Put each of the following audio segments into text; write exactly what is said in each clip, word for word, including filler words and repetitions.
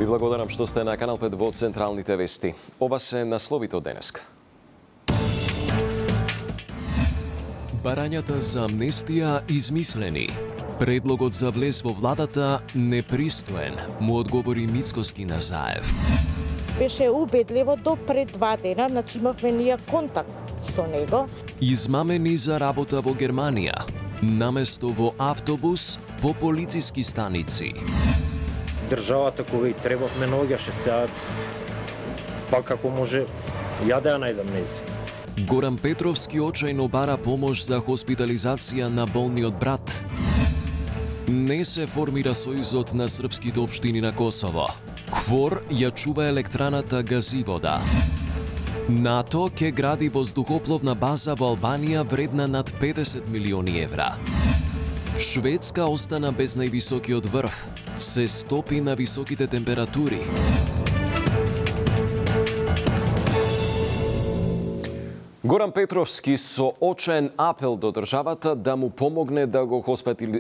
Ви благодарам што сте на Канал пет во Централните вести. Ова се насловите од денеска. Барањата за амнестија измислени. Предлогот за влез во владата непристоен, му одговори Мицкоски на Заев. Беше убедливо до пред два дена, значи имавме ние контакт со него. Измамени за работа во Германија. Наместо во автобус, по полициски станици. Државата кога и требавме наоѓаше, сега па како може ја да ја најдам нези. Горан Петровски очајно бара помош за хоспитализација на болниот брат. Не се формира сојузот на српските општини на Косово. Квор ја чува електраната Газивода. НАТО ќе гради воздухопловна база во Албанија вредна над педесет милиони евра. Шведска остана без највисокиот врв. Се стопи на високите температури. Горан Петровски со очаен апел до државата да му помогне да го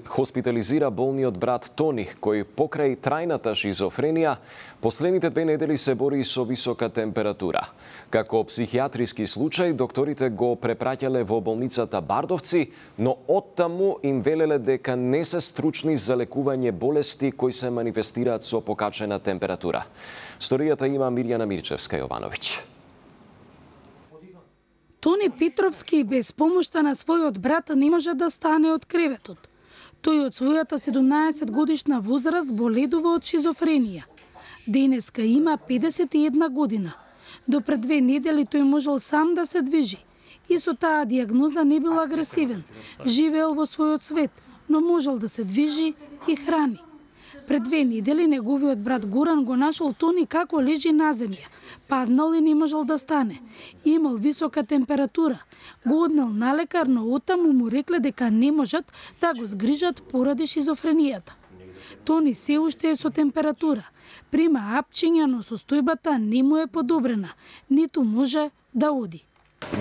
хоспитализира болниот брат Тони, кој покрај трајната шизофренија последните две недели се бори со висока температура. Како психијатриски случај, докторите го препраќале во болницата Бардовци, но оттаму им велеле дека не се стручни за лекување болести кои се манифестираат со покачена температура. Сторијата има Мирјана Мирчевска-Јовановиќ. Тони Петровски без помошта на својот брат не може да стане од креветот. Тој од својата седумнаесет годишна возраст боледува од шизофренија. Денеска има педесет и една година. До пред две недели тој можел сам да се движи. И со таа диагноза не бил агресивен. Живеел во својот свет, но можел да се движи и храни. Пред две недели неговиот брат Горан го нашол Тони како лежи на земја. Паднал и не можел да стане. Имал висока температура. Го однел на лекар, но оттаму му рекле дека не можат да го згрижат поради шизофренијата. Тони се уште е со температура. Прима апчиња, но состојбата не му е подобрена. Ниту може да оди.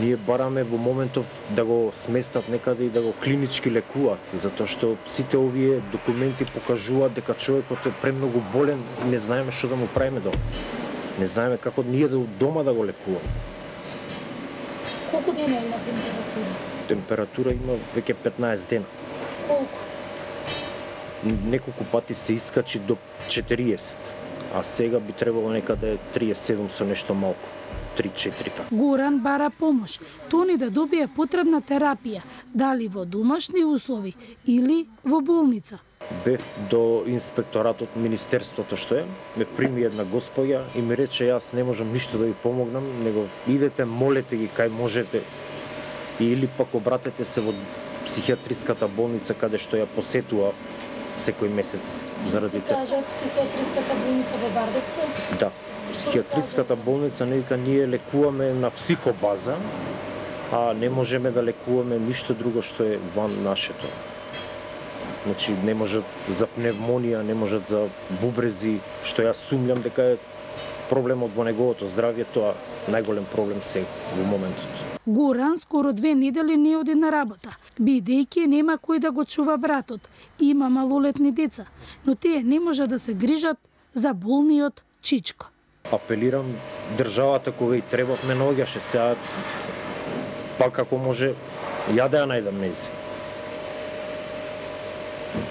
Ние бараме во моментов да го сместат некаде и да го клинички лекуваат, затоа што сите овие документи покажуваат дека човекот е премногу болен и не знаеме што да му правиме дома. Не знаеме како ние да дома да го лекуваме. Колку дена има температура? Температура има веќе петнаесет дена. Колку? Неколку пати се искачи до четириесет, а сега би требало некаде триесет и седум со нешто малку. три-четири така. Горан бара помош. Тони да добие потребна терапија, дали во домашни услови или во болница. Бев до инспекторатот, министерството што е, ме прими една господја и ми рече јас не можам ништо да ви помогнам, него идете, молете ги кај можете или пак обратете се во психијатриската болница каде што ја посетува секој месец заради тест. Кажа психијатриската болница во Бардовци? Да. Психијатриската болница нека ние лекуваме на психобаза, а не можеме да лекуваме ништо друго што е ван нашето. Значи не можат за пневмонија, не можат за бубрези, што јас сумњам дека е проблемот во неговото здравје, тоа најголем проблем се во моментот. Горан скоро две недели не оди на работа, бидејќи нема кој да го чува братот. Има малолетни деца, но тие не може да се грижат за болниот чичко. Апелирам државата кога и требавме наоѓаше, сега па како може ја да ја најдам нези.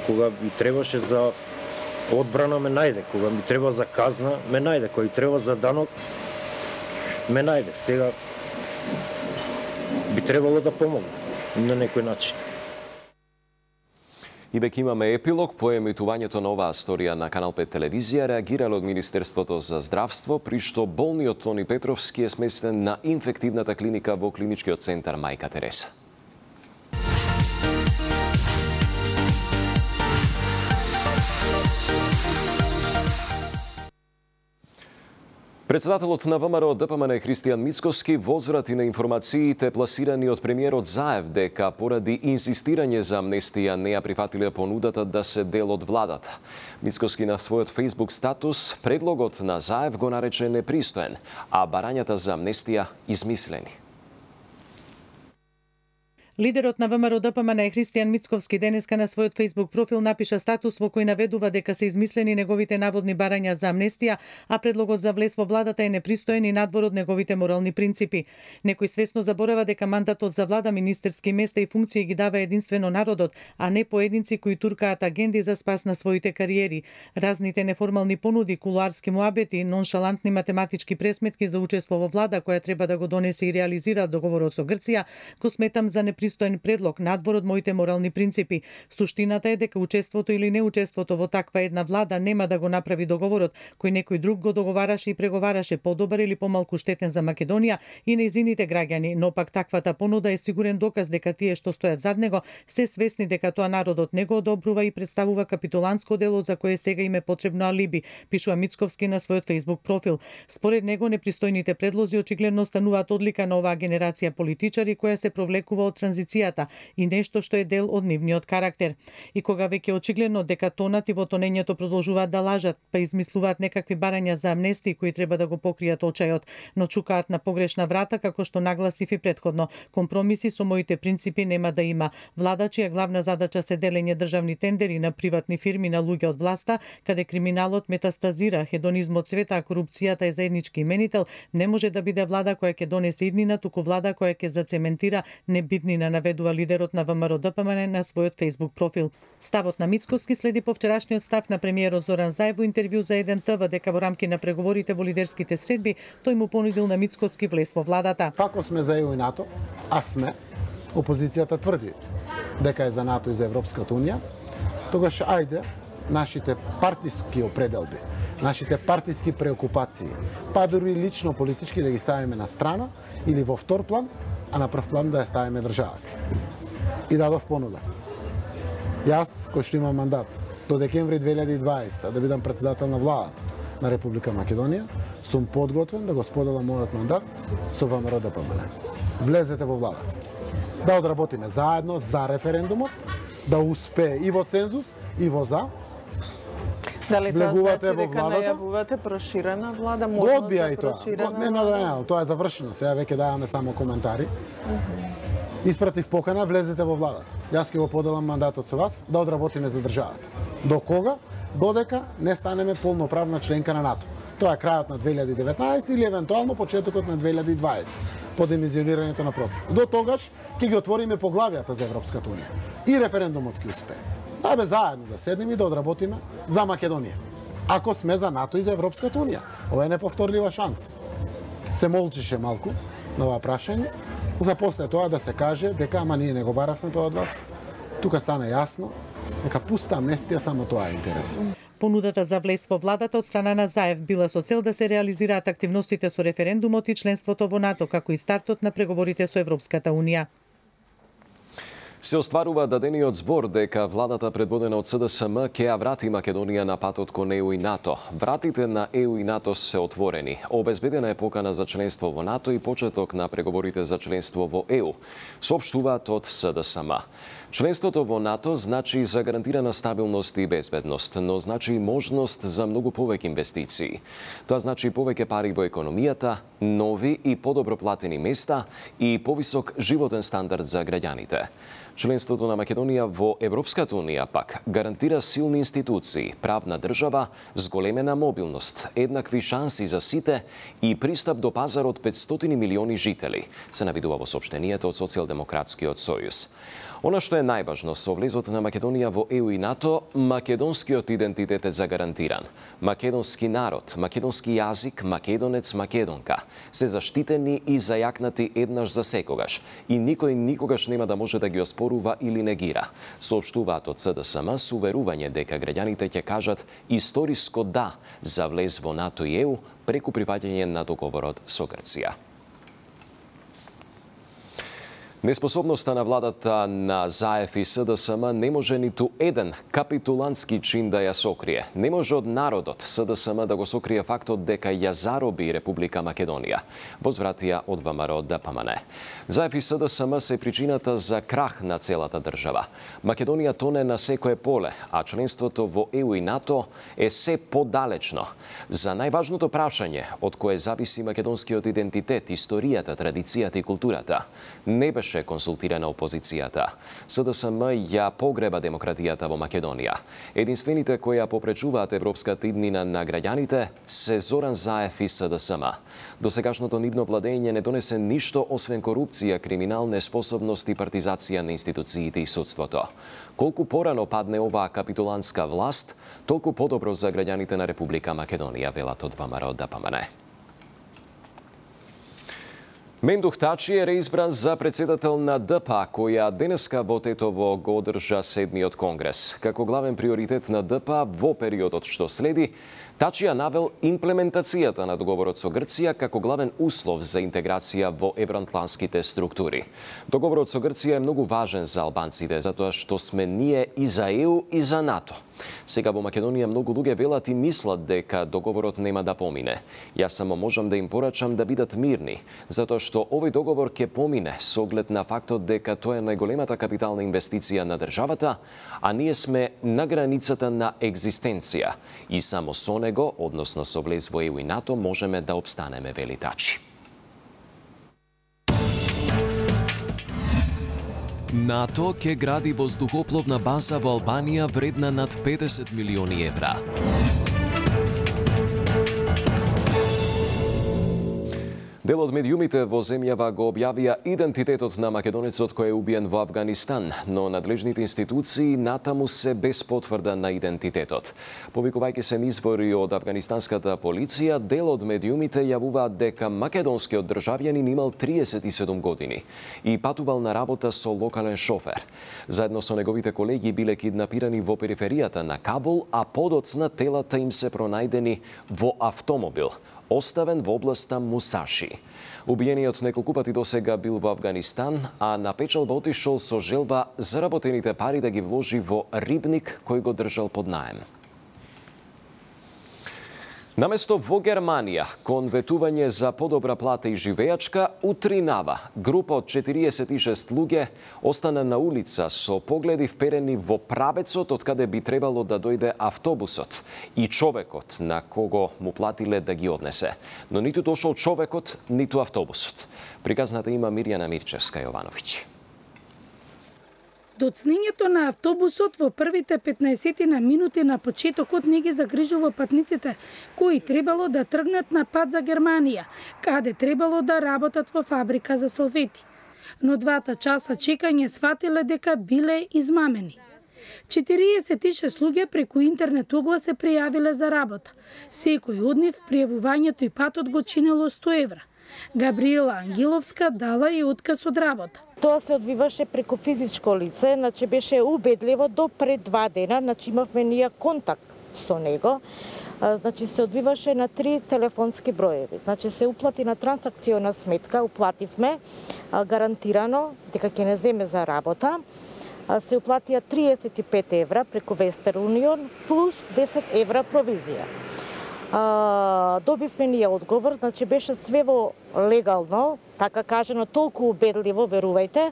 Кога ми требаше за одбрана ме најде, кога ми треба за казна ме најде, кога и треба за данок ме најде. Сега би требало да помогне на некој начин. И веќе имаме епилог по емитувањето на оваа сторија на Канал пет телевизија, реагирале од Министерството за здравство, при што болниот Тони Петровски е сместен на инфективната клиника во клиничкиот центар Мајка Тереса. Председателот на ВМРО ДПМН Христијан Мицкоски возврати на информациите пласирани од премиерот Заев дека поради инсистирање за амнестија не ја прифатиле понудата да се дел од владата. Мицкоски на својот Facebook статус предлогот на Заев го нарече непристоен, а барањата за амнестија измислени. Лидерот на ВМРО-ДПМН Христијан Мицковски денеска на својот Facebook профил напиша статус во кој наведува дека се измислени неговите наводни барања за амнестија, а предлогот за влез во владата е непристоен и надвор од неговите морални принципи. Некој свесно заборава дека мандатот за влада, министерски места и функции ги дава единствено народот, а не поединци кои туркаат агенди за спас на своите кариери. Разните неформални понуди, кулуарски муабети, ноншалантни математички пресметки за учество во влада која треба да го донесе и реализира договорот со Грција, го сметам за непристоен предлог надвор од моите морални принципи. Суштината е дека учеството или неучеството во таква една влада нема да го направи договорот кој некој друг го договараше и преговараше подобар или помалку штетен за Македонија и нејзините граѓани, но пак таквата понуда е сигурен доказ дека тие што стојат зад него се свесни дека тоа народот не го одобрува и представува капитулантско дело за кое сега им е потребно алиби, пишува Мицковски на својот Facebook профил. Според него непристојните предлози очигледно стануваат одлика на оваа генерација политичари која се провлекува од транзицијата и нешто што е дел од нивниот карактер. И кога веќе очигледно дека тонат и во тонењето продолжуваат да лажат, па измислуваат некакви барања за амнестии кои треба да го покријат очајот, но чукаат на погрешна врата, како што нагласив и претходно. Компромиси со моите принципи нема да има. Влада чија главна задача се делење државни тендери на приватни фирми на луѓе од власта, каде криминалот метастазира, хедонизмот цвета, а корупцијата е заеднички именител, не може да биде влада која ќе донесе иднина, туку влада која ќе зацементира небитнина, наведува лидерот на ВМРО-ДПМН на својот Facebook профил. Ставот на Мицковски следи по вчерашниот став на премиерот Зоран Заев во интервју за еден Т В дека во рамки на преговорите во лидерските средби тој му понудил на Мицковски влез во владата. Ако сме за Е У и НАТО, а сме, опозицијата тврди дека е за НАТО и за Европската унија, тогаш ајде нашите партиски определби, нашите партиски преокупации, па дури лично политички да ги ставиме на страна или во втор план, а на прв план да ја ставиме државата. И дадов понуда. Јас, кој што имам мандат до декември две илјади и дваесета да бидам председател на владата на Република Македонија, сум подготвен да го споделам мојот мандат со ВМРО-ДПМН. Влезете во владата. Да одработиме заедно за референдумот, да успее и во цензус, и во за. Дали тоа значи дека најавувате проширена влада, можност за проширена не, не, не, не, тоа е завршено. Сега веќе даваме само коментари. Испратив покана, влезете во владата. Јас ќе го поделам мандатот со вас да одработиме за државата. До кога? Додека не станеме полноправна членка на НАТО. Тоа е крајот на две илјади и деветнаесета или евентуално почетокот на две илјади и дваесета, по демизионирањето на процесот. До тогаш ќе ги отвориме поглавијата за Европската унија. И референдумот ќе успее. Абе заедно да седнеме и да одработиме за Македонија. Ако сме за НАТО и за Европската унија, ова е неповторлива шанса. Се молчише малку на ова прашање, за после тоа да се каже дека ама ние не го баравме тоа од вас. Тука стана јасно дека пуста амнестија само тоа е интересно. Понудата за влез во владата од страна на Заев била со цел да се реализираат активностите со референдумот и членството во НАТО, како и стартот на преговорите со Европската унија. Се остварува дадениот збор дека владата предводена од С Д С М ќе ја врати Македонија на патот кон Е У и НАТО. Вратите на Е У и НАТО се отворени. Обезбедена е покана за членство во НАТО и почеток на преговорите за членство во Е У, соопштуваат од С Д С М. Членството во НАТО значи за гарантирана стабилност и безбедност, но значи и можност за многу повеќе инвестиции. Тоа значи повеќе пари во економијата, нови и подобро платени места и повисок животен стандард за граѓаните. Членството на Македонија во Европската унија пак гарантира силни институции, правна држава, зголемена мобилност, еднакви шанси за сите и пристап до пазарот петстотини милиони жители, се навидува во соопштението од Социјалдемократскиот сојуз. Она што е најважно со влезот на Македонија во Е У и НАТО, македонскиот идентитет е загарантиран. Македонски народ, македонски јазик, македонец, македонка се заштитени и зајакнати еднаш за секогаш и никој никогаш нема да може да ги оспорува или негира. Соопштуваат од С Д С М со уверување дека граѓаните ќе кажат историско да за влез во НАТО и Е У преку прифаќање на договорот со Грција. Неспособноста на владата на Заев и С Д С М не може ниту еден капитулантски чин да ја сокрие. Не може од народот С Д С М да го сокрие фактот дека ја зароби Република Македонија, возвратија од ВМРО-ДПМН. Заев и С Д С М се причината за крах на целата држава. Македонија тоне на секое поле, а членството во Е У и НАТО е се подалечно. За најважното прашање од кое зависи македонскиот идентитет, историјата, традицијата и културата, не беше беше консултирана опозицијата. СДСМ ја погреба демократијата во Македонија. Единствените кои ја попречуваат европската иднина на граѓаните се Зоран Заев и СДСМ. Досегашното нивно владење не донесе ништо освен корупција, криминал, неспособност и партизација на институциите и судството. Колку порано падне оваа капитулантска власт, толку подобро за граѓаните на Република Македонија, велат од ВМРО Д П М Н. Мендух Тачи е реизбран за председател на Д П А, која денеска во Тетово го одржа седмиот конгрес. Како главен приоритет на Д П А во периодот што следи, Тачи ја навел имплементацијата на договорот со Грција како главен услов за интеграција во евроатлантските структури. Договорот со Грција е многу важен за албанците, затоа што сме ние и за Е У и за НАТО. Сега во Македонија многу луѓе велат и мислат дека договорот нема да помине. Јас само можам да им порачам да бидат мирни, затоа што овој договор ќе помине со оглед на фактот дека тоа е најголемата капитална инвестиција на државата, а ние сме на границата на екзистенција и само со него, односно со влез во Е У и НАТО, можеме да обстанеме, вели Тачи. НАТО ќе гради воздухопловна база во Албанија вредна над педесет милиони евра. Дел од медиумите во земјава го објавија идентитетот на македонецот кој е убиен во Авганистан, но надлежните институции натаму се без потврда на идентитетот. Повикувајќи се извори од авганистанската полиција, дел од медиумите јавуваат дека македонскиот државјанин имал триесет и седум години и патувал на работа со локален шофер. Заедно со неговите колеги биле киднапирани во периферијата на Кабул, а подоцна телата им се пронајдени во автомобил, оставен во областа Мусаши. Убиениот неколку пати досега бил во Авганистан, а на печалба отишол со желба заработените пари да ги вложи во рибник кој го држал под наем. Наместо во Германија, кон ветување за подобра плата и живеачка, у Тринава, група од четириесет и шест луѓе остана на улица со погледи вперени во правецот од каде би требало да дојде автобусот и човекот на кого му платиле да ги однесе. Но ниту дошол човекот, ниту автобусот. Приказната има Мирјана Мирчевска-Јовановиќ. Доцнењето на автобусот во првите петнаесет на минути на почетокот не ги загрижило патниците кои требало да тргнат на пат за Германија, каде требало да работат во фабрика за салфети. Но двата часа чекање сватиле дека биле измамени. четириесет и шест луѓе преку интернет оглас се пријавиле за работа. Секој од нив пријавувањето и патот го чинело сто евра. Габриела Ангеловска дала и отказ од работа. Тоа се одвиваше преку физичко лице, значи беше убедливо до пред два дена, значи имавме ние контакт со него. Значи се одвиваше на три телефонски броеви. Значи се уплати на трансакциона сметка, уплативме гарантирано дека ќе не земе за работа. Се уплатија триесет и пет евра преку Western Union плюс десет евра провизија. А, добивме ние одговор, значи беше све во легално, така кажано, толку убедливо, верувајте,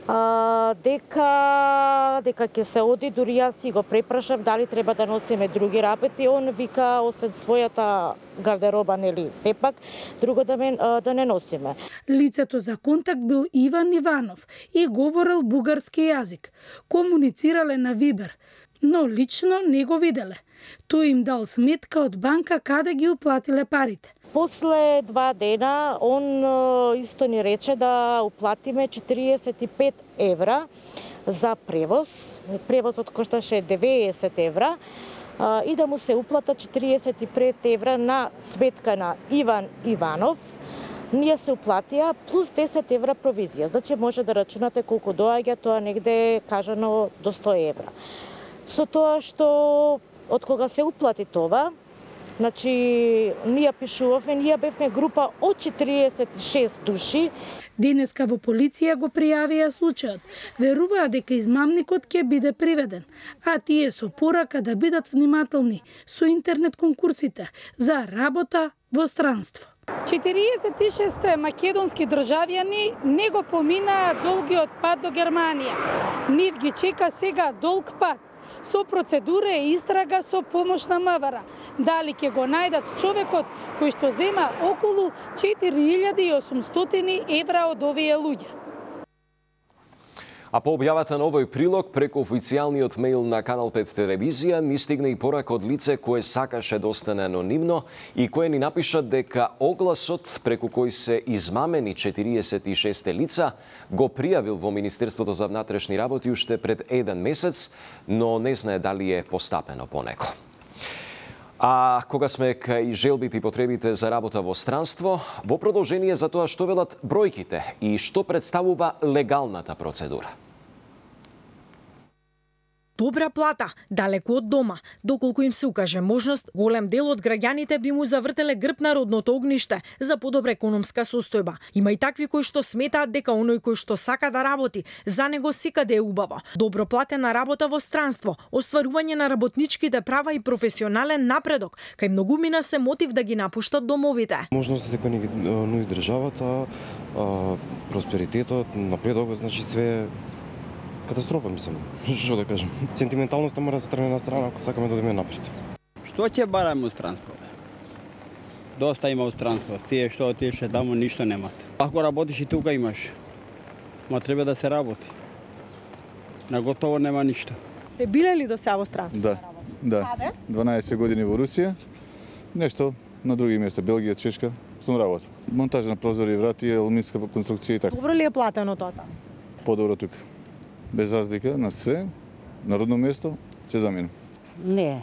а, дека дека ќе се оди, дури јас си го препрашав дали треба да носиме други работи, он вика освен својата гардероба, нели, сепак, друго да, мен, да не носиме. Лицето за контакт бил Иван Иванов и говорел бугарски јазик. Комуницирале на Вибер, но лично не го виделе. Тој им дал сметка од банка каде ги уплатиле парите. После два дена он исто ни рече да уплатиме четириесет и пет евра за превоз. Превозот кошташе деветдесет евра и да му се уплата четириесет и пет евра на сметка на Иван Иванов. Ние се уплатија плюс десет евра провизија. Значи може да рачунате колку доаѓа, тоа негде кажано до сто евра. Со тоа што од кога се уплати тоа, значи ние пишувавме, ние бевме група од четириесет и шест души. Денеска во полиција го пријавија случајот. Веруваа дека измамникот ќе биде приведен, а тие со порака да бидат внимателни со интернет конкурсите за работа во странство. четириесет и шест македонски државјани не го поминаа долгиот пат до Германија. Нив ги чека сега долг пат со процедура и истрага со помош на МВР. Дали ќе го најдат човекот кој што зема околу четири илјади и осумстотини евра од овие луѓе. А по објавата на овој прилог, преку официјалниот мејл на Канал пет телевизија, ни стигна и порака од лице кое сакаше да остане анонимно и кое ни напиша дека огласот преку кој се измамени четириесет и шест лица го пријавил во Министерството за внатрешни работи уште пред еден месец, но не знае дали е постапено по него. А кога сме кај желбите и потребите за работа во странство, во продолжение за тоа што велат бројките и што представува легалната процедура. Добра плата, далеку од дома, доколку им се укаже можност, голем дел од граѓаните би му завртеле грб на родното огниште за подобра економска состојба. Има и такви кои што сметаат дека оној кој што сака да работи, за него секаде е убаво. Добро платена работа во странство, остварување на работничките права и професионален напредок, кај многумина се мотив да ги напуштат домовите. Можностите кои ни нуди државата, просперитетот, напредокот, значи све катастрофа, мислам, што да кажем. Сентименталноста мора да се тргне на страна ако сакаме да одиме напред. Што ќе бараме од странство? Доста има од странство. Тие што отише таму ништо немат. Ако работиш и тука имаш, ма треба да се работи. На готово нема ништо. Сте биле ли до сега во странство? Да, да. Каде? дванаесет години во Русија, нешто на други места, Белгија, Чешка, сум работа. Монтажа на прозори и врати, алуминска конструкција и така. Добро ли е платено тоа таму? Подобро тука. Без разлика на све, на родно место, ќе заминам. Не,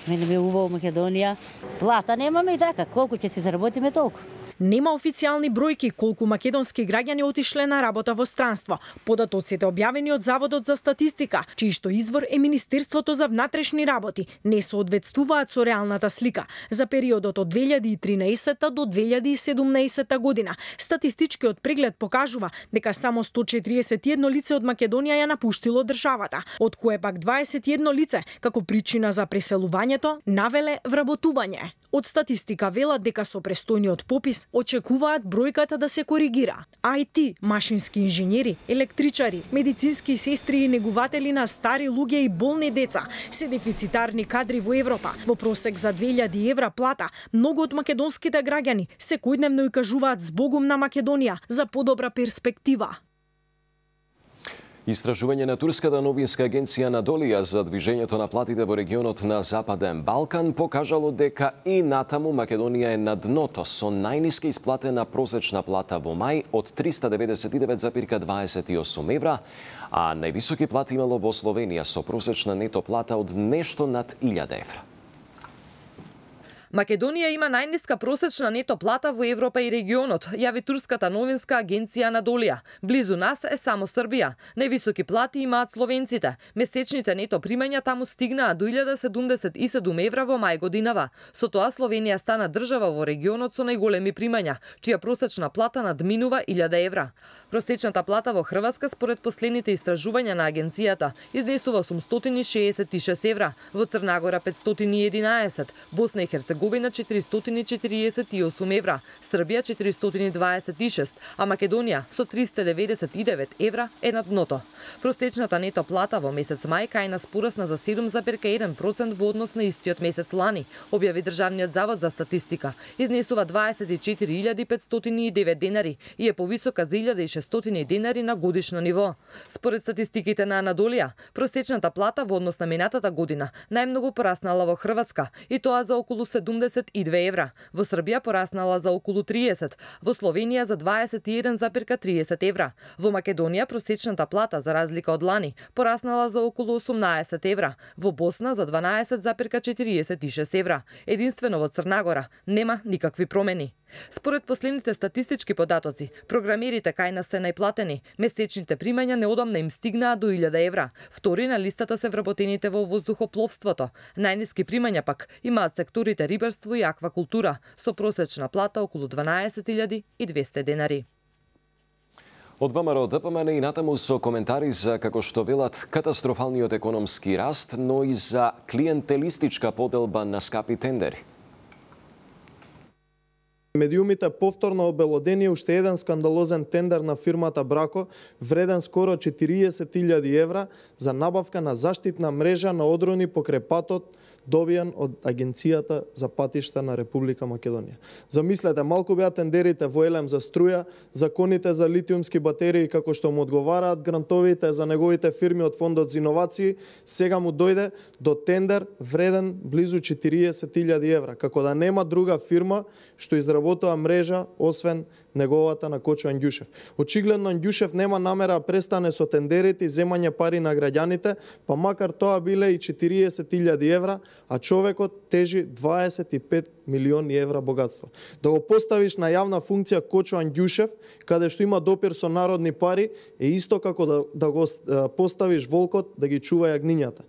мене ме убаво Македонија. Плата немаме и така, колку ќе се заработиме толку. Нема официјални бројки колку македонски граѓани отишле на работа во странство. Податоците објавени од Заводот за статистика, чиј што извор е Министерството за внатрешни работи, не соодветствуваат со реалната слика. За периодот од две илјади и тринаесетта до две илјади и седумнаесетта година, статистичкиот преглед покажува дека само сто четириесет и едно лице од Македонија ја напуштило државата, од кое пак дваесет и едно лице, како причина за преселувањето, навеле вработување. Од статистика велат дека со престојниот попис очекуваат бројката да се коригира. ай ти, машински инженери, електричари, медицински сестри и негуватели на стари луѓе и болни деца се дефицитарни кадри во Европа. Во просек за две илјади евра плата, многу од македонските граѓани секојдневно и кажуваат збогум на Македонија за подобра перспектива. Истражување на турската новинска агенција Анадолија за движењето на платите во регионот на Западен Балкан покажало дека и натаму Македонија е на дното со најниска исплатена просечна плата во мај од триста деветдесет и девет зарем дваесет и осум евра, а највисоки плати имало во Словенија со просечна нето плата од нешто над илјада евра. Македонија има најниска просечна нето плата во Европа и регионот, јави турската новинска агенција Анадолија. Близу нас е само Србија. Највисоки плати имаат словенците. Месечните нето примања таму стигнаа до илјада седумдесет и седум евра во мај годинава. Со тоа Словенија стана држава во регионот со најголеми примања, чија просечна плата надминува илјада евра. Просечната плата во Хрватска според последните истражувања на агенцијата изнесува осумстотини и шеесет и шест евра, во Црнагора петстотини и единаесет, Босна и Херцеговина четиристотини и четириесет и осум евра, Србија четиристотини и дваесет и шест, а Македонија со триста деветдесет и девет евра е на дното. Просечната нето плата во месец мај кај нас порасна за седум зарем еден процент во однос на истиот месец лани, објави Државниот завод за статистика. Изнесува дваесет и четири илјади петстотини и девет денари и е повисока за илјада и шестстотини денари на годишно ниво. Според статистиките на Анадолија, просечната плата во однос на минатата година најмногу пораснала во Хрватска и тоа за околу седумдесет и две евра, во Србија пораснала за околу триесет, во Словенија за дваесет и еден зарем триесет евра, во Македонија просечната плата за разлика од лани пораснала за околу осумнаесет евра, во Босна за дванаесет зарем четириесет и шест евра. Единствено во Црнагора нема никакви промени. Според последните статистички податоци, програмерите кај нас се најплатени. Месечните примања неодамна им стигнаа до илјада евра. Втори на листата се вработените во воздухопловството. Најниски примања пак имаат секторите рибарство и аквакултура, со просечна плата околу дванаесет илјади и двесте денари. Од ВМРО ДПМН и натаму со коментари за, како што велат, катастрофалниот економски раст, но и за клиентелистичка поделба на скапи тендери. Медиумите повторно обелодени уште еден скандалозен тендер на фирмата Брако, вреден скоро четириесет илјади евра за набавка на заштитна мрежа на одрони покрај патот, добиен од Агенцијата за патишта на Република Македонија. Замислете, малку беа тендерите во Елем за струја, законите за литиумски батерии како што му одговараат грантовите за неговите фирми од Фондот за иновации, сега му дојде до тендер вреден близу четириесет илјади евра, како да нема друга фирма што изработува мрежа освен неговата на Кочо Андјушев. Очигледно Андјушев нема намера да престане со тендерите и земање пари на граѓаните, па макар тоа биле и четириесет илјади евра, а човекот тежи дваесет и пет милиони евра богатство. Да го поставиш на јавна функција Кочо Андјушев, каде што има допир со народни пари, е исто како да, да го поставиш волкот да ги чува јагнињата.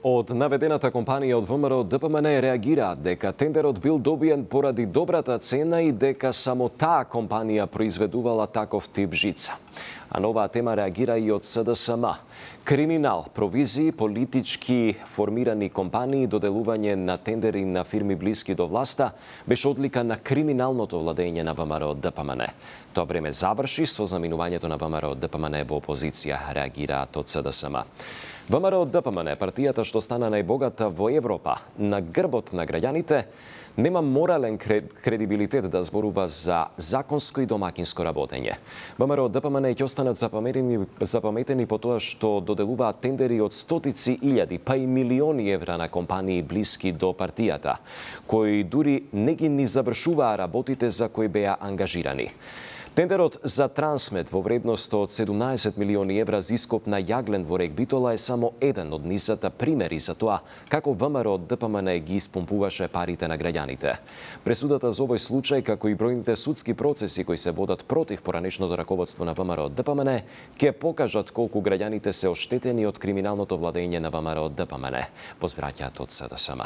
Од наведената компанија од ВМРО ДПМН реагираат дека тендерот бил добиен поради добрата цена и дека само таа компанија произведувала таков тип жица. А на оваа тема реагира и од СДСМ. Криминал, провизии, политички формирани компании, доделување на тендери на фирми блиски до власта беше одлика на криминалното владење на ВМРО ДПМН. Тоа време заврши со заминувањето на ВМРО ДПМН во опозиција, реагираат од СДСМ. ВМРО ДПМН, партијата што стана најбогата во Европа, на грбот на граѓаните, нема морален кредибилитет да зборува за законско и домакинско работење. ВМРО ДПМН ќе останат запаметени, запаметени по тоа што доделуваат тендери од стотици илјади, па и милиони евра на компании блиски до партијата, кои дури не ги ни завршуваа работите за кои беа ангажирани. Тендерот за Трансмед во вредност од седумнаесет милиони евра за ископ на јаглен во рек Битола е само еден од низата примери за тоа како ВМРО ДПМН ги испомпуваше парите на граѓаните. Пресудата за овој случај, како и бројните судски процеси кои се водат против поранешното раководство на ВМРО ДПМН, ќе покажат колку граѓаните се оштетени од криминалното владење на ВМРО ДПМН, возвраќаат од СДСМ.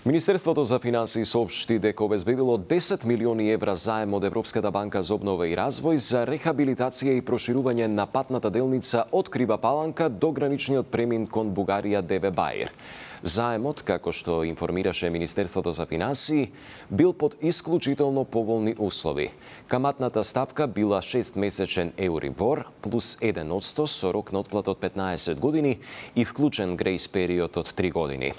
Министерството за финансии соопшти дека обезбедило десет милиони евра заем од Европската банка за обнова и развој за рехабилитација и проширување на патната делница од Крива Паланка до граничниот премин кон Бугарија Деве Баир. Заемот, како што информираше Министерството за финансии, бил под исклучително поволни услови. Каматната стапка била шестмесечен Еурибор плюс еден одсто со рок на отплата од петнаесет години и вклучен грејс период од три години.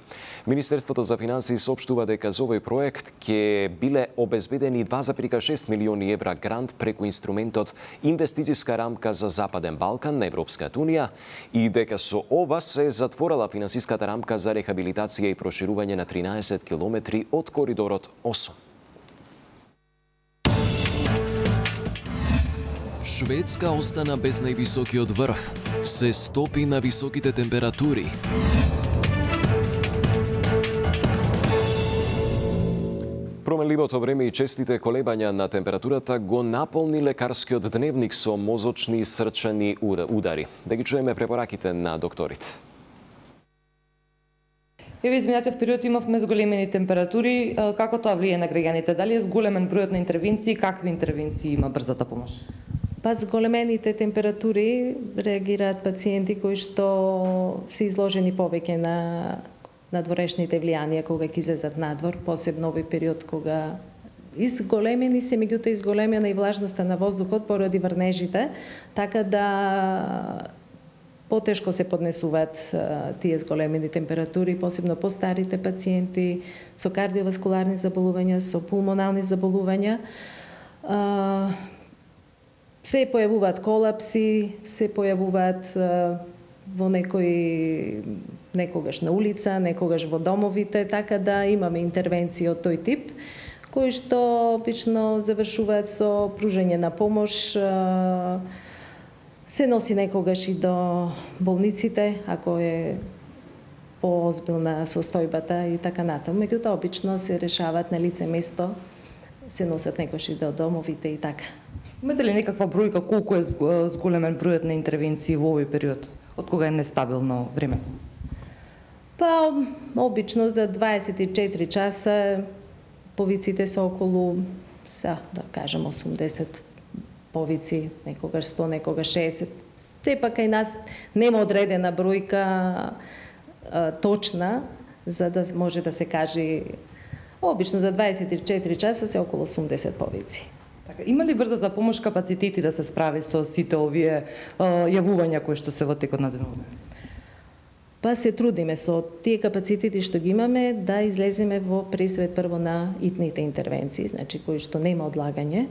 Министерството за финансии соопштува дека за овој проект ќе биле обезбедени два зарез и шест милиони евра грант преку инструментот Инвестициска рамка за Западен Балкан на Европската унија и дека со ова се затворила финансиската рамка за рехабилитација и проширување на тринаесет километри од коридорот осум. Шведска остана без највисокиот врв. Се стопи на високите температури. Променливото време и честите колебања на температурата го наполни лекарскиот дневник со мозочни и срчани удари. Да ги чуеме препораките на докторите. Еве изминатиот период имавме зголемени температури, како тоа влие на граѓаните? Дали е зголемен бројот на интервенции, какви интервенции има брзата помош? Па зголемените температури реагираат пациенти кои што се изложени повеќе на надворешните влијанија кога ќе излезат надвор, посебно овој период кога изголемени се, меѓутоа изголемена и влажноста на воздухот поради врнежите, така да потешко се поднесуваат тие зголемени температури, посебно по старите пациенти со кардиоваскуларни заболувања, со пулмонални заболувања. Се појавуваат колапси, се појавуваат во некои некогаш на улица, некогаш во домовите, така да имаме интервенции од тој тип, кои што обично завршуваат со пружање на помош, се носи некогаш и до болниците, ако е поозбилна состојбата и така натаму. Меѓутоа, обично се решаваат на лице место, се носат некогаш и до домовите и така. Имате ли некаква бројка колку е зголемен бројот на интервенции во овој период? Од кога е нестабилно времето? Па, обично за дваесет и четири часа повиците се околу, са, да кажем, осумдесет повици, некогаш сто, некогаш шеесет. Сепак кај нас нема одредена бројка а, точна, за да може да се каже Обично за дваесет и четири часа се околу осумдесет повици. Така, има ли брза за помош капацитети да се справи со сите овие јавувања кои што се во текот на денове? Па се трудиме со тие капацитети што ги имаме да излеземе во пресред прво на итните интервенции, значи кои што нема одлагање,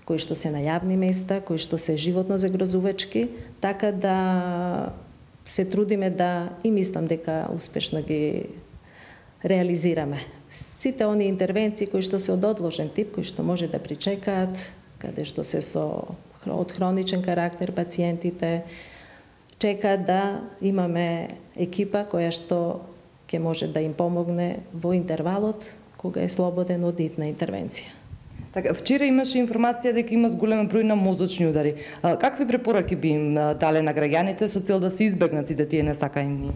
кои што се на јавни места, кои што се животно загрозувачки, така да се трудиме да и мислам дека успешно ги реализираме. Сите они интервенции кои што се од одложен тип, кои што може да причекаат, каде што се со од хроничен карактер пациентите, чека да имаме екипа која што ќе може да им помогне во интервалот кога е слободен од итна интервенција. Така, вчера имаше информација дека има зголем број на мозочни удари. А, какви препораки би им дале на граѓаните со цел да се избегнат сите тие несакани?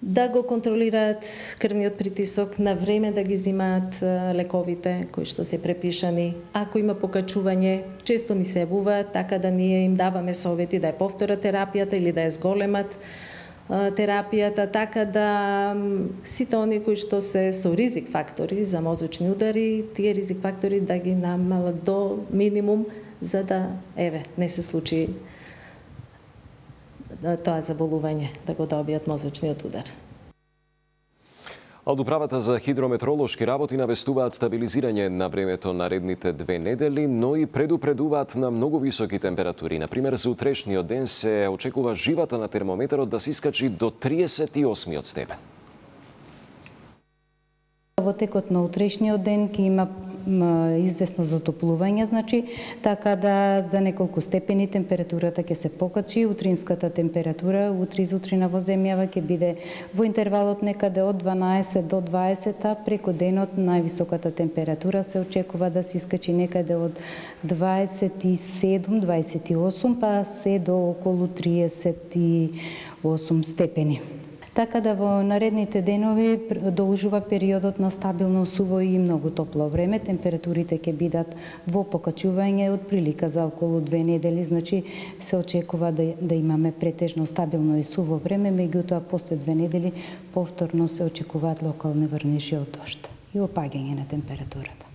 Да го контролираат крвниот притисок, на време да ги зимаат лековите кои што се препишани. Ако има покачување, често ни се јавуваат, така да ние им даваме совети да ја повторат терапијата или да ја зголемат терапијата, така да сите они кои што се со ризик фактори за мозочни удари, тие ризик фактори да ги намалат до минимум, за да, еве, не се случи тоа заболување, да го добијат мозочниот удар. Од Управата за хидрометролошки работи навестуваат стабилизирање на времето наредните две недели, но и предупредуваат на многу високи температури. Например, за утрешниот ден се очекува живата на термометарот да се искачи до триесет и осми степен. Во текот на утрешниот ден ќе има известно затоплување, значи, така да за неколку степени температурата ќе се покачи. Утринската температура утре изутрина во земјава ќе биде во интервалот некаде од дванаесет до дваесет, а преку денот највисоката температура се очекува да се искачи некаде од дваесет и седум до дваесет и осум, па се до околу триесет и осум степени. Така да во наредните денови продолжува периодот на стабилно суво и многу топло време. Температурите ќе бидат во покачување од прилика за околу две недели, значи се очекува да, да имаме претежно стабилно и суво време, меѓутоа после две недели повторно се очекуваат локални врнежи од дожд и опаѓање на температурата.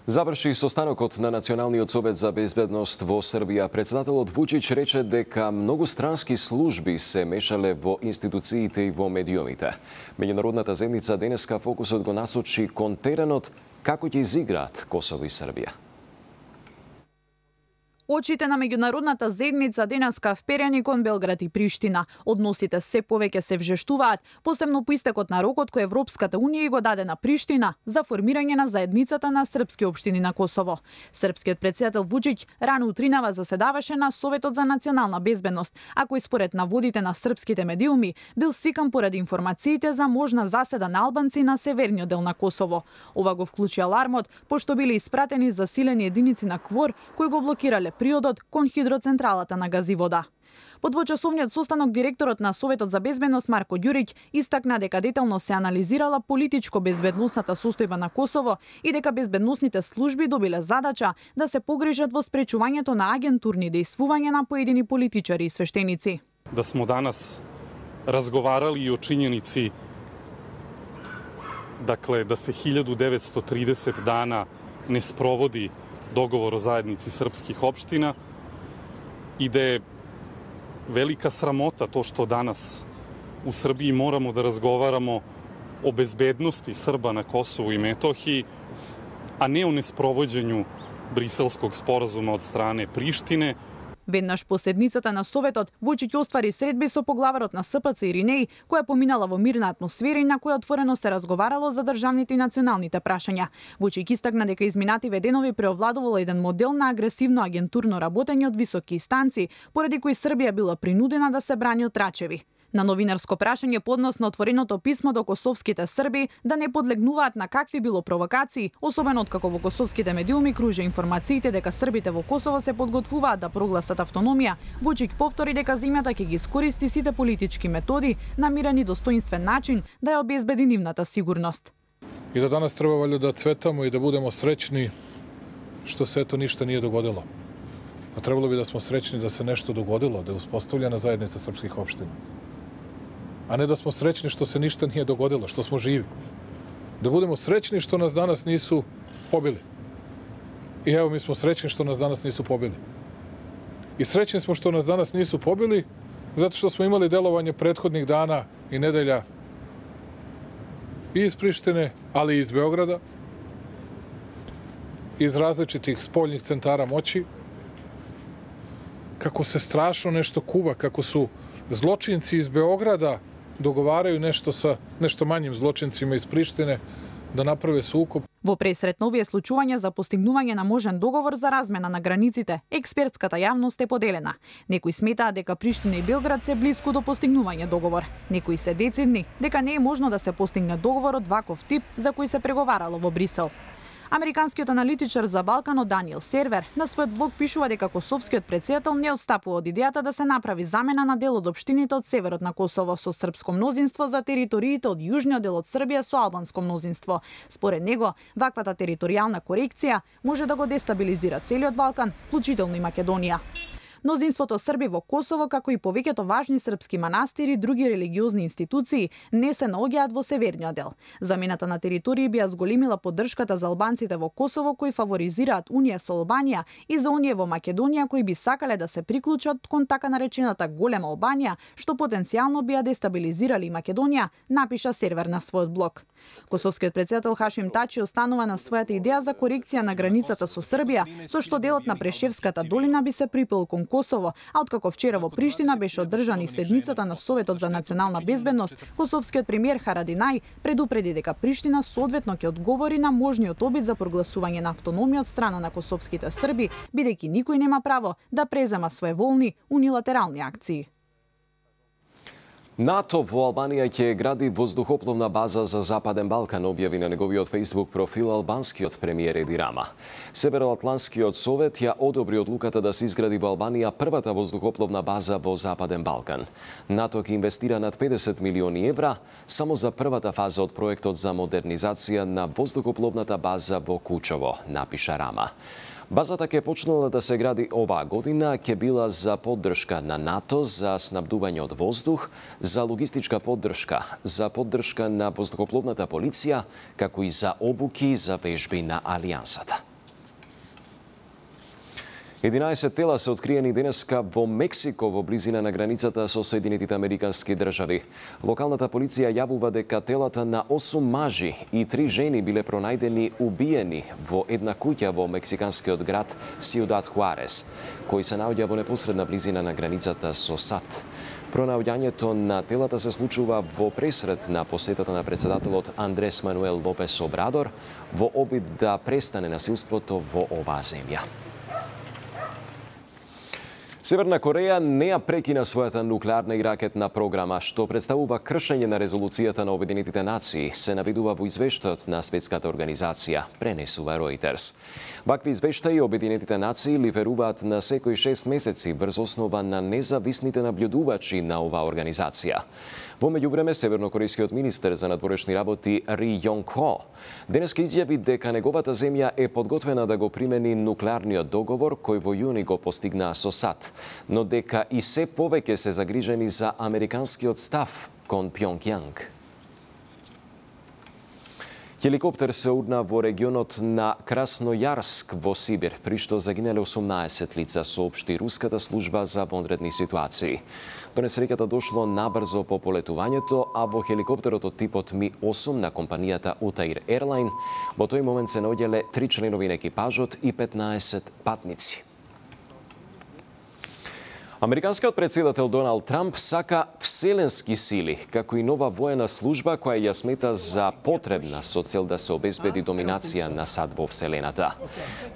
Заврши состанокот на Националниот совет за безбедност во Србија. Председателот Вучич рече дека многу странски служби се мешале во институциите и во медиумите. Меѓународната земјица денеска фокусот го насочи кон теренот како ќе изиграат Косово и Србија. Очите на меѓународната заедница денеска вперени кон Белград и Приштина. Односите се повеќе се вжештуваат, посебно по истекот на рокот кој Европската унија го даде на Приштина за формирање на заедницата на српски општини на Косово. Српскиот претседател Вучич рано утринава заседаваше на Советот за национална безбедност, а кој според наводите на српските медиуми бил свикан поради информациите за можна заседа на албанци на северниот дел на Косово. Ова го вклучи алармот, пошто биле испратени засилени единици на КФОР кои го блокирале приодот кон хидроцентралата на Газивода. По двочасовниот состанок директорот на Советот за безбедност Марко Ѓурич истакна дека детално се анализирала политичко безбедносната состојба на Косово и дека безбедносните служби добиле задача да се погрижат во спречувањето на агентурни дејствувања на поедини политичари и свештеници. Да смо данас разговарали и о чињеници, dakle, da se hiljadu devetsto trideset dana ne sprovodi dogovor o zajednici srpskih opština i da je velika sramota to što danas u Srbiji moramo da razgovaramo o bezbednosti Srba na Kosovu i Metohiji, a ne o nesprovođenju Briselskog sporazuma od strane Prištine. Веднаш по седницата на Советот, Вучич оствари средби со поглаварот на СПЦ Иринеј, која поминала во мирна атмосфера и на која отворено се разговарало за државните и националните прашања. Вучич истакна дека изминативе денови преовладувал еден модел на агресивно агентурно работење од високи инстанции, поради кои Србија била принудена да се брани од трачеви. На новинарско прашање поднос на отвореното писмо до косовските Срби да не подлегнуваат на какви било провокации, особено откако во косовските медиуми кружа информациите дека србите во Косово се подготвуваат да прогласат автономија, Вучич повтори дека земјата ќе ги искористи сите политички методи на мирен и достоинствен начин да ја обезбеди нивната сигурност. И да данас треба валјда да цветамо и да будемо среќни што се ето ништа nije dogodilo. Pa trebalo bi da smo srećni da se nešto dogodilo, da je uspostavljena zajednica srpskih opština. A ne da smo srećni što se ništa nije dogodilo, što smo živi. Da budemo srećni što nas danas nisu pobili. I evo, mi smo srećni što nas danas nisu pobili. I srećni smo što nas danas nisu pobili, zato što smo imali delovanje prethodnih dana i nedelja i iz Prištine, ali i iz Beograda, iz različitih spoljnih centara moći, kako se strašno nešto kuva, kako su zločinci iz Beograda dogovaraju nešto sa nešto manjim zločincima iz Prištine да направи суkob. Во пресрет на овие случувања за постигнување на можен договор за размена на границите, експертската јавност е поделена. Некои сметаат дека Приштина и Белград се блиску до постигнување договор. Некои се децидни дека не е можно да се постигне договор од ваков тип за кој се преговарало во Брисел. Американскиот аналитичар за Балканот Даниел Сервер на својот блог пишува дека косовскиот претседател не отстапува од идејата да се направи замена на дел од општините од северот на Косово со српско мнозинство за териториите од јужниот дел од Србија со албанско мнозинство. Според него, ваквата територијална корекција може да го дестабилизира целиот Балкан, вклучително и Македонија. Мнозинството Срби во Косово, како и повеќето важни српски манастири и други религиозни институции, не се наоѓаат во северниот дел. Замената на територии би ја зголемила поддршката за албанците во Косово кои фаворизираат унија со Албанија и за оние во Македонија кои би сакале да се приклучат кон така наречената голема Албанија, што потенцијално би ја дестабилизирали Македонија, напиша Сервер на својот блог. Косовскиот претседател Хашим Тачи останува на својата идеја за корекција на границата со Србија, со што делот на Прешевската долина би се припел кон Косово, а откако вчера во Приштина беше одржан и седницата на Советот за национална безбедност, косовскиот премиер Харадинај предупреди дека Приштина соодветно ќе одговори на можниот обид за прогласување на автономија од страна на косовските срби, бидејќи никој нема право да презема своеволни унилатерални акции. НАТО во Албанија ќе гради воздухопловна база за Западен Балкан, објави на неговиот Facebook профил албанскиот премиер Еди Рама. Североатлантскиот совет ја одобри одлуката да се изгради во Албанија првата воздухопловна база во Западен Балкан. НАТО ќе инвестира над педесет милиони евра само за првата фаза од проектот за модернизација на воздухопловната база во Кучево, напиша Рама. Базата ќе почнала да се гради оваа година, ќе била за поддршка на НАТО, за снабдување од воздух, за логистичка поддршка, за поддршка на воздухопловната полиција, како и за обуки за вежби на Алијансата. единаесет тела се откриени денеска во Мексико во близина на границата со Соединетите Американски држави. Локалната полиција јавува дека телата на осум мажи и три жени биле пронајдени убиени во една куќа во мексиканскиот град Сиудад Хуарес, кој се наоѓа во непосредна близина на границата со САД. Пронаоѓањето на телата се случува во пресрет на посетата на председателот Андрес Мануел Лопес Обрадор во обид да престане насилството во оваа земја. Северна Кореја не ја прекина својата нуклеарна и ракетна програма, што представува кршење на резолуцијата на Обединетите нации, се наведува во извештајот на Светската организација, пренесува Reuters. Вакви извештаи Обединетите нации ливеруваат на секои шест месеци врз основа на независните наблюдувачи на оваа организација. Во меѓувреме, севернокорејскиот министер за надворешни работи Ри Јонг Хо денеска изјави дека неговата земја е подготвена да го примени нуклеарниот договор кој во јуни го постигнаа со САД, но дека и се повеќе се загрижени за американскиот став кон Пјонгјанг. Хеликоптер се урна во регионот на Краснојарск во Сибир, при што загинале осумнаесет лица, соопшти руската служба за вонредни ситуации. До несреќата дошло набрзо по полетувањето, а во хеликоптерот од типот Ми осум на компанијата Утаир Ерлайн во тој момент се наоѓале три членови на екипажот и петнаесет патници. Американскиот претседател Доналд Трамп сака вселенски сили, како и нова воена служба која ја смета за потребна со цел да се обезбеди доминација на САД во вселената.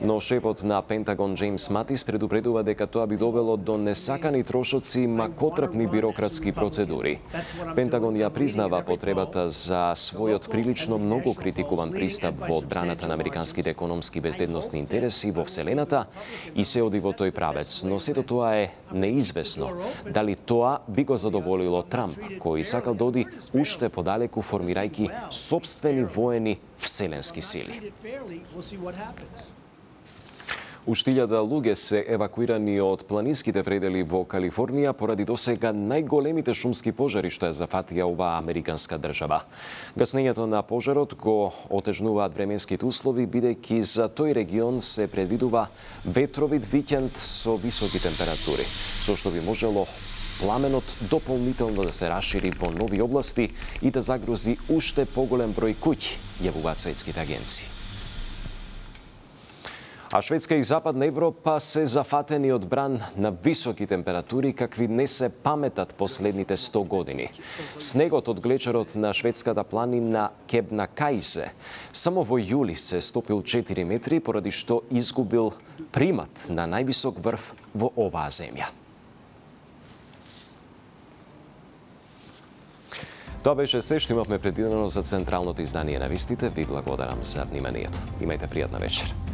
Но шефот на Пентагон Джеймс Матис предупредува дека тоа би довело до несакани трошоци и макотрпни бирократски процедури. Пентагон ја признава потребата за својот прилично многу критикуван пристап во одбраната на американските економски безбедносни интереси во вселената и се оди во тој правец, но сето тоа е неизвестно дали тоа би го задоволило Трамп, кој сакал да оди уште подалеку формирајќи собствени воени вселенски сили. Уште илјада луѓе се евакуирани од планинските предели во Калифорнија поради досега најголемите шумски пожари што ја зафатија оваа американска држава. Гаснењето на пожарот го отежнуваат временските услови, бидејќи за тој регион се предвидува ветровит викенд со високи температури, со што би можело пламенот дополнително да се расшири во нови области и да загрози уште поголем број куќи, јавуваат светските агенции. А Шведска и Западна Европа се зафатени од бран на високи температури какви не се паметат последните сто години. Снегот од глечерот на шведската планина Кебнакајсе само во јули се стопил четири метри, поради што изгубил примат на највисок врв во оваа земја. Тоа беше се што имавме предвидено за централното издание на вистите. Ви благодарам за вниманието. Имајте пријатна вечер.